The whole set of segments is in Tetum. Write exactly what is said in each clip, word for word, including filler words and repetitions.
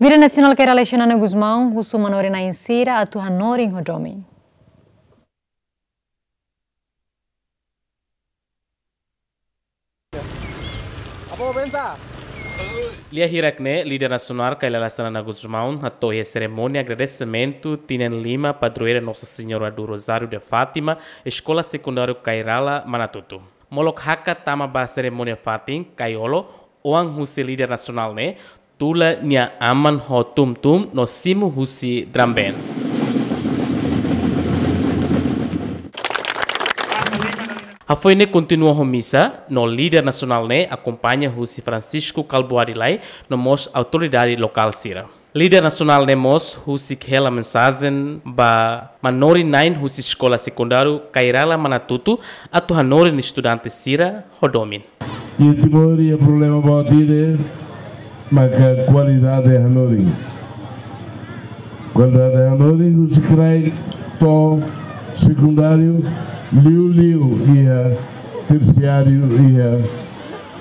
Líder nasionál Kay Rala Xanana Gusmão husu manorin-na'in sira atu hanorin ho domin. Lia hirak ne'e, líder nasionál Kay Rala Xanana Gusmão hato'o iha serimónia agradesimentu tinan lima padroeira Nossa Senhora do Rosário de Fátima, Eskola Sekundáriu Kay Rala Manatutu. Molok hakat tama ba serimónia fatin, Kay Olo, oan husi líder nasionál ne'e, tula nia aman ho tum-tum no simu husi drum band. Hafoin ne'e kontinua ho misa, no líder nasionál ne'e akompaña husi Francisco Kalbuadi Lay, no mós autoridade lokál sira. Líder nasionál ne'e mós husik hela mensajen ba manorin-na'in husi Eskola Sekundáriu Kay Rala Manatutu atu hanorin estudante sira ho domin. Iha Timor iha problema boot ida, maka kualidade hanorin. Kualidade hanorin husi kraik to'o sekundáriu, liuliu iha tersiáriu, iha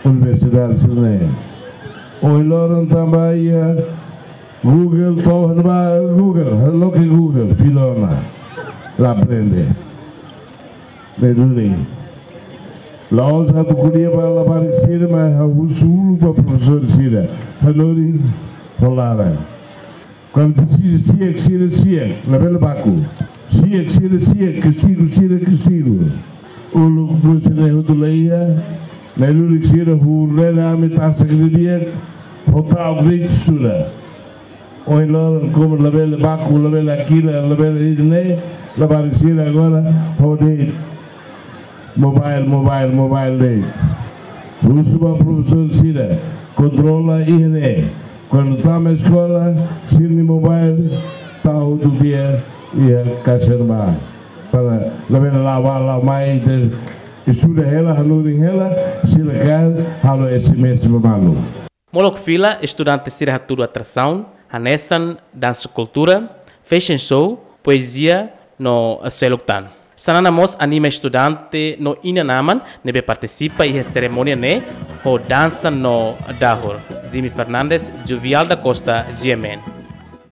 universidade sira-ne'e. Ohin loron tanba iha Google, to'o ne'ebá Google, loke Google, fila ona, la aprende. Ne'e duni. La'ós atu ko'alia ba labarik sira, mas ha'u husu uluk ba profesór sira. Hanorin ho laran. Kuandu presiza si'ak, sira si'ak, labele baku. Si'ak, sira si'ak, kastigu, sira kastigu. Uluk buat sira-ne'e hotu la iha, ne'e lulik sira huu lena ami tasak didi'ak, ho ta'uk de'it estuda. Ohin loron komu labele baku, labele hakilar, labele ida-ne'e, labarik sira agora, ho de'it. Mobile, mobile, mobile de'it. Husu ba profesór sira, kontrola iha ne'e. Kuandu tama eskola, sira-nia mobile, tau hotu tiha iha kaixa ne'ebá. Para labele la'o bá la'o mai, de estuda hela, hanorin hela, sira kaer, halo S M S ba malu. Molok fila, estudante sira hatudu atrasaun, hanesan dansa kultura, fashion show, poezia, no seluk tan. Xanana mós anima estudante no inan-aman ne'ebé partisipa iha serimónia ne'e ho dansa no dahur. Jimmy Fernandes, Juvial da Costa, G M N.